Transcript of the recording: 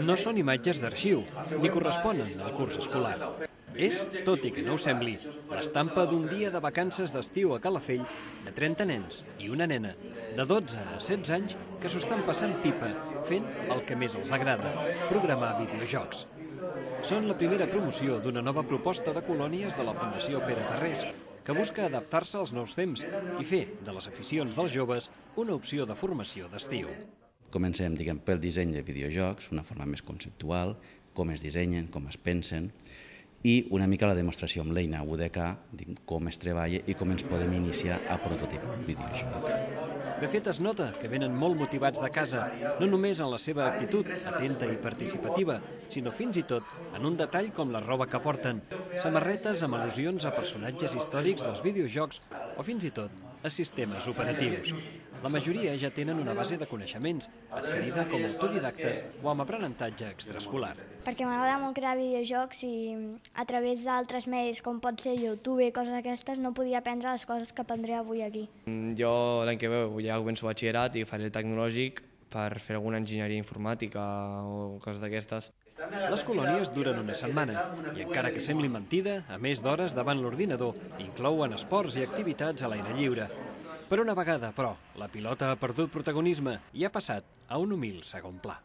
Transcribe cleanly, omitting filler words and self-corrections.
No són imatges d'arxiu, ni corresponen al curs escolar. És, tot i que no ho sembli, l'estampa d'un dia de vacances d'estiu a Calafell de 30 nens i una nena de 12 a 16 anys que s'ho estan passant pipa, fent el que més els agrada, programar videojocs. Són la primera promoció d'una nova proposta de colònies de la Fundació Pere Tarrés, que busca adaptar-se als nous temps i fer de les aficions dels joves una opció de formació d'estiu. Comencem, pel disseny de videojocs, una forma més conceptual, com es dissenyen, com es pensen, i una mica la demostració amb l'eina UDK, com es treballa i com ens podem iniciar a prototipar un videojoc. De fet, es nota que venen molt motivats de casa, no només en la seva actitud atenta i participativa, sinó fins i tot en un detall com la roba que porten, samarretes amb al·lusions a personatges històrics dels videojocs o fins i tot a sistemes operatius. La majoria ja tenen una base de coneixements, adquirida com a autodidactes o amb aprenentatge extraescolar. Perquè m'agrada molt crear videojocs i a través d'altres medis, com pot ser YouTube i coses d'aquestes, no podia aprendre les coses que aprendré avui aquí. Jo l'any que ve ja començo batxillerat i faré el tecnològic per fer alguna enginyeria informàtica o coses d'aquestes. Les colònies duren una setmana i, encara que sembli mentida, a més d'hores davant l'ordinador, inclouen esports i activitats a l'aire lliure. Per una vegada, però, la pilota ha perdut protagonisme i ha passat a un humil segon pla.